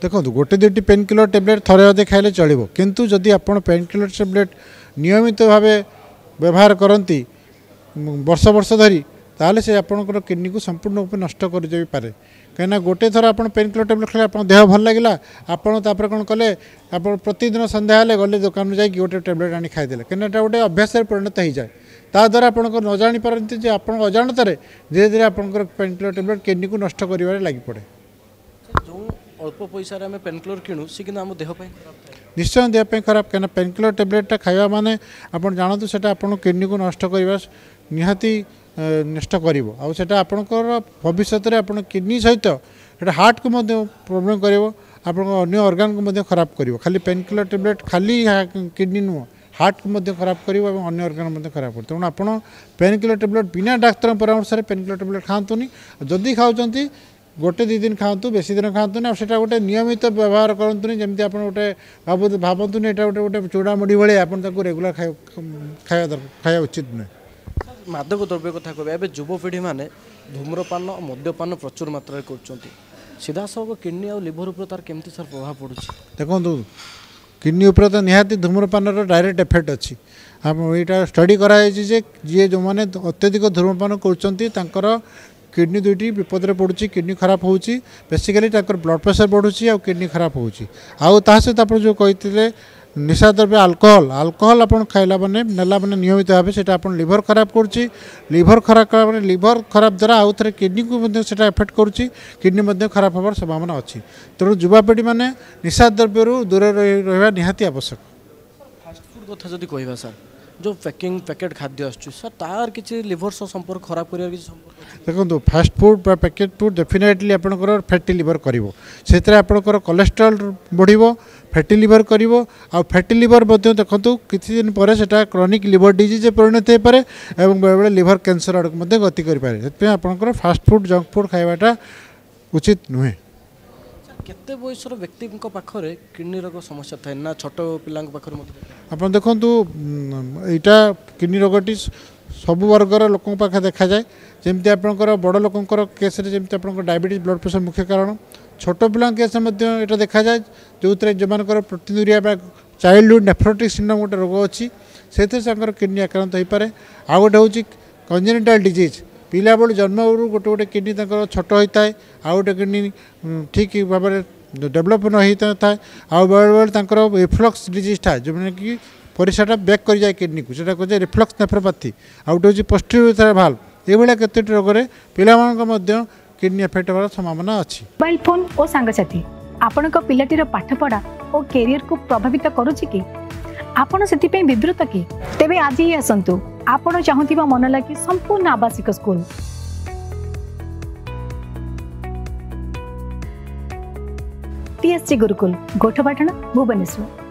ଦେଖନ୍ତୁ, ଗୋଟେ ଦୁଇଟି ପେନ୍ କିଲର ଟ୍ୟାବଲେଟ୍ ଥରେ ଅଧେ ଖାଇଲେ ଚଳିବ, କିନ୍ତୁ ଯଦି ଆପଣ ପେନ୍ କିଲର ଟ୍ୟାବଲେଟ୍ ନିୟମିତ ଭାବେ ବ୍ୟବହାର କରନ୍ତି ବର୍ଷ ବର୍ଷ ଧରି, ତାହେଲେ ସେ ଆପଣଙ୍କର କିଡ଼ନୀକୁ ସମ୍ପୂର୍ଣ୍ଣ ରୂପେ ନଷ୍ଟ କରିଯାଇପାରେ। କାହିଁକିନା ଗୋଟେ ଥର ଆପଣ ପେନ୍ କିଲର ଟ୍ୟାବଲେଟ୍ ଖାଇଲେ ଆପଣଙ୍କ ଦେହ ଭଲ ଲାଗିଲା, ଆପଣ ତାପରେ କ'ଣ କଲେ, ଆପଣ ପ୍ରତିଦିନ ସନ୍ଧ୍ୟା ହେଲେ ଗଲେ ଦୋକାନରୁ ଯାଇକି ଗୋଟେ ଟ୍ୟାବଲେଟ୍ ଆଣି ଖାଇଦେଲେ, କାହିଁକିନା ଏଇଟା ଗୋଟେ ଅଭ୍ୟାସରେ ପରିଣତ ହେଇଯାଏ। ତା ଦ୍ୱାରା ଆପଣଙ୍କ ନ ଜାଣିପାରନ୍ତି ଯେ ଆପଣଙ୍କ ଅଜାଣତରେ ଧୀରେ ଧୀରେ ଆପଣଙ୍କର ପେନ୍ କିଲର ଟ୍ୟାବଲେଟ୍ କିଡ଼ନୀକୁ ନଷ୍ଟ କରିବାରେ ଲାଗିପଡ଼େ। ଯେଉଁ ଅଳ୍ପ ପଇସାରେ ଆମେ ପେନ୍ କିଲର କିଣୁ, ସେ କିନ୍ତୁ ଆମ ଦେହ ପାଇଁ ଖରାପ ଥାଏ। ନିଶ୍ଚୟ ଦେହ ପାଇଁ ଖରାପ, କାହିଁକିନା ପେନ୍ କିଲର ଟ୍ୟାବଲେଟ୍ଟା ଖାଇବା ମାନେ ଆପଣ ଜାଣନ୍ତୁ ସେଇଟା ଆପଣଙ୍କ କିଡ଼ନୀକୁ ନଷ୍ଟ କରିବା ନିହାତି ନଷ୍ଟ କରିବ। ଆଉ ସେଇଟା ଆପଣଙ୍କର ଭବିଷ୍ୟତରେ ଆପଣ କିଡ଼ନୀ ସହିତ ସେଇଟା ହାର୍ଟକୁ ମଧ୍ୟ ପ୍ରୋବ୍ଲେମ୍ କରିବ, ଆପଣଙ୍କ ଅନ୍ୟ ଅର୍ଗାନକୁ ମଧ୍ୟ ଖରାପ କରିବ। ଖାଲି ପେନ୍ କିଲର ଟ୍ୟାବଲେଟ୍ ଖାଲି କିଡ଼ନୀ ନୁହଁ, ହାର୍ଟକୁ ମଧ୍ୟ ଖରାପ କରିବ ଏବଂ ଅନ୍ୟ ଅର୍ଗାନ ମଧ୍ୟ ଖରାପ କରିବ। ତେଣୁ ଆପଣ ପେନ୍ କିଲର ଟ୍ୟାବଲେଟ୍ ବିନା ଡାକ୍ତରଙ୍କ ପରାମର୍ଶରେ ପେନ୍ କିଲର ଟ୍ୟାବଲେଟ୍ ଖାଆନ୍ତୁନି। ଯଦି ଖାଉଛନ୍ତି ଗୋଟେ ଦୁଇ ଦିନ ଖାଆନ୍ତୁ, ବେଶୀ ଦିନ ଖାଆନ୍ତୁନି। ଆଉ ସେଇଟା ଗୋଟେ ନିୟମିତ ବ୍ୟବହାର କରନ୍ତୁନି, ଯେମିତି ଆପଣ ଗୋଟେ ଭାବନ୍ତୁନି ଏଇଟା ଗୋଟେ ଗୋଟେ ଚୂଡ଼ାମୁଢ଼ି ଭଳିଆ ଆପଣ ତାକୁ ରେଗୁଲାର ଖାଇବା ଉଚିତ ନୁହେଁ। ମାଦକ ଦ୍ରବ୍ୟ କଥା କହିବା, ଏବେ ଯୁବପିଢ଼ିମାନେ ଧୂମ୍ରପାନ ମଦ୍ୟପାନ ପ୍ରଚୁର ମାତ୍ରାରେ କରୁଛନ୍ତି, ସିଧାସଳଖ କିଡ଼ନୀ ଆଉ ଲିଭର ଉପରେ ତାର କେମିତି ସାର୍ ପ୍ରଭାବ ପଡ଼ୁଛି? ଦେଖନ୍ତୁ, କିଡ଼ନୀ ଉପରେ ତ ନିହାତି ଧୂମ୍ରପାନର ଡାଇରେକ୍ଟ ଏଫେକ୍ଟ ଅଛି। ଆମ ଏଇଟା ଷ୍ଟଡି କରାଯାଇଛି ଯେ ଯିଏ ଯେଉଁମାନେ ଅତ୍ୟଧିକ ଧୂମ୍ରପାନ କରୁଛନ୍ତି ତାଙ୍କର କିଡ଼ନୀ ଦୁଇଟି ବିପଦରେ ପଡ଼ୁଛି, କିଡ଼ନୀ ଖରାପ ହେଉଛି, ବେସିକାଲି ତାଙ୍କର ବ୍ଲଡ଼ ପ୍ରେସର ବଢ଼ୁଛି ଆଉ କିଡ଼ନୀ ଖରାପ ହେଉଛି। ଆଉ ତା ସହିତ ଆପଣ ଯେଉଁ କହିଥିଲେ ନିଶା ଦ୍ରବ୍ୟ ଆଲକୋହଲ, ଆଲକୋହଲ ଆପଣ ଖାଇଲା ମାନେ ନେଲା ମାନେ ନିୟମିତ ଭାବେ ସେଇଟା ଆପଣ ଲିଭର ଖରାପ କରୁଛି। ଲିଭର ଖରାପ କଲା ମାନେ ଲିଭର ଖରାପ ଦ୍ୱାରା ଆଉ ଥରେ କିଡ଼ନୀକୁ ମଧ୍ୟ ସେଇଟା ଏଫେକ୍ଟ କରୁଛି, କିଡ଼ନୀ ମଧ୍ୟ ଖରାପ ହେବାର ସମ୍ଭାବନା ଅଛି। ତେଣୁ ଯୁବାପିଢ଼ିମାନେ ନିଶା ଦ୍ରବ୍ୟରୁ ଦୂରରେ ରହିବା ନିହାତି ଆବଶ୍ୟକ। ଫାଷ୍ଟଫୁଡ଼ କଥା ଯଦି କହିବା ସାର୍, ଯେଉଁ ପ୍ୟାକିଂ ପ୍ୟାକେଟ୍ ଖାଦ୍ୟ ଆସୁଛି ସାର୍, ତାର କିଛି ଲିଭର ସହ ସମ୍ପର୍କ ଖରାପ କରିବାର କିଛି ସମ୍ପର୍କ ଅଛି? ଦେଖନ୍ତୁ, ଫାଷ୍ଟଫୁଡ଼ ବା ପ୍ୟାକେଟ୍ ଫୁଡ଼ ଡେଫିନେଟଲି ଆପଣଙ୍କର ଫ୍ୟାଟି ଲିଭର କରିବ। ସେଥିରେ ଆପଣଙ୍କର କୋଲେଷ୍ଟ୍ରଲ୍ ବଢ଼ିବ, ଫ୍ୟାଟି ଲିଭର କରିବ। ଆଉ ଫ୍ୟାଟି ଲିଭର ମଧ୍ୟ ଦେଖନ୍ତୁ କିଛି ଦିନ ପରେ ସେଟା କ୍ରନିକ୍ ଲିଭର ଡିଜିଜ୍ରେ ପରିଣତ ହେଇପାରେ ଏବଂ ବେଳେବେଳେ ଲିଭର କ୍ୟାନ୍ସର ଆଡ଼କୁ ମଧ୍ୟ ଗତି କରିପାରେ। ସେଥିପାଇଁ ଆପଣଙ୍କର ଫାଷ୍ଟଫୁଡ଼ ଜଙ୍କ ଫୁଡ଼ ଖାଇବାଟା ଉଚିତ ନୁହେଁ। କେତେ ବୟସର ବ୍ୟକ୍ତିଙ୍କ ପାଖରେ କିଡ଼ନୀ ରୋଗ ସମସ୍ୟା ଥାଏ ନା ଛୋଟ ପିଲାଙ୍କ ପାଖରେ ମଧ୍ୟ? ଆପଣ ଦେଖନ୍ତୁ, ଏଇଟା କିଡ଼ନୀ ରୋଗଟି ସବୁ ବର୍ଗର ଲୋକଙ୍କ ପାଖରେ ଦେଖାଯାଏ। ଯେମିତି ଆପଣଙ୍କର ବଡ଼ ଲୋକଙ୍କର କେସ୍ରେ ଯେମିତି ଆପଣଙ୍କର ଡାଇବେଟିସ୍, ବ୍ଲଡ଼ ପ୍ରେସର ମୁଖ୍ୟ କାରଣ, ଛୋଟ ପିଲାଙ୍କ କେସ୍ରେ ମଧ୍ୟ ଏଇଟା ଦେଖାଯାଏ, ଯେଉଁଥିରେ ଯେଉଁମାନଙ୍କର ପ୍ରୋଟିନୁରିଆ ବା ଚାଇଲ୍ଡହୁଡ଼ ନେଫ୍ରୋଟିକ୍ ସିଣ୍ଡ୍ରୋମ୍ ଗୋଟେ ରୋଗ ଅଛି, ସେଥିରେ ତାଙ୍କର କିଡ଼ନୀ ଆକ୍ରାନ୍ତ ହୋଇପାରେ। ଆଉ ଗୋଟେ ହେଉଛି କଞ୍ଜେନିଟାଲ୍ ଡିଜିଜ୍, ପିଲାବେଳୁ ଜନ୍ମରୁ ଗୋଟେ ଗୋଟେ କିଡ଼ନୀ ତାଙ୍କର ଛୋଟ ହୋଇଥାଏ, ଆଉ ଗୋଟେ କିଡ଼ନୀ ଠିକ୍ ଭାବରେ ଡେଭଲପ୍ ନ ହେଇଥାଏ। ଆଉ ବେଳେବେଳେ ତାଙ୍କର ରିଫ୍ଲକ୍ସ ଡିଜିଜ୍ ଥାଏ, ଯେଉଁମାନେ କି ପରିସ୍ରାଟା ବ୍ୟାକ୍ କରିଯାଏ କିଡ଼ନୀକୁ, ସେଇଟା କୁହାଯାଏ ରିଫ୍ଲକ୍ସ ନେଫ୍ରୋପାଥି। ଆଉ ଗୋଟେ ହେଉଛି ପୋଷ୍ଟରିୟର ଭାଲ୍ଭ। ଏଇଭଳିଆ କେତୋଟି ରୋଗରେ ପିଲାମାନଙ୍କ ମଧ୍ୟ କିଡ଼ନୀ ଏଫେକ୍ଟ ହେବାର ସମ୍ଭାବନା ଅଛି। ମୋବାଇଲ ଫୋନ୍ ଓ ସାଙ୍ଗସାଥି ଆପଣଙ୍କ ପିଲାଟିର ପାଠପଢ଼ା ଓ କ୍ୟାରିୟରକୁ ପ୍ରଭାବିତ କରୁଛି କି? ଆପଣ ସେଥିପାଇଁ ବିବ୍ରତ କି? ତେବେ ଆଜି ହିଁ ଆସନ୍ତୁ ଆପଣ ଚାହୁଁଥିବା ମନ ଲାଗି ସମ୍ପୂର୍ଣ୍ଣ ଆବାସିକ ସ୍କୁଲ। ଟିଏସଜି ଗୁରୁକୁଲ, ଗୋଠପାଟଣା, ଭୁବନେଶ୍ୱର।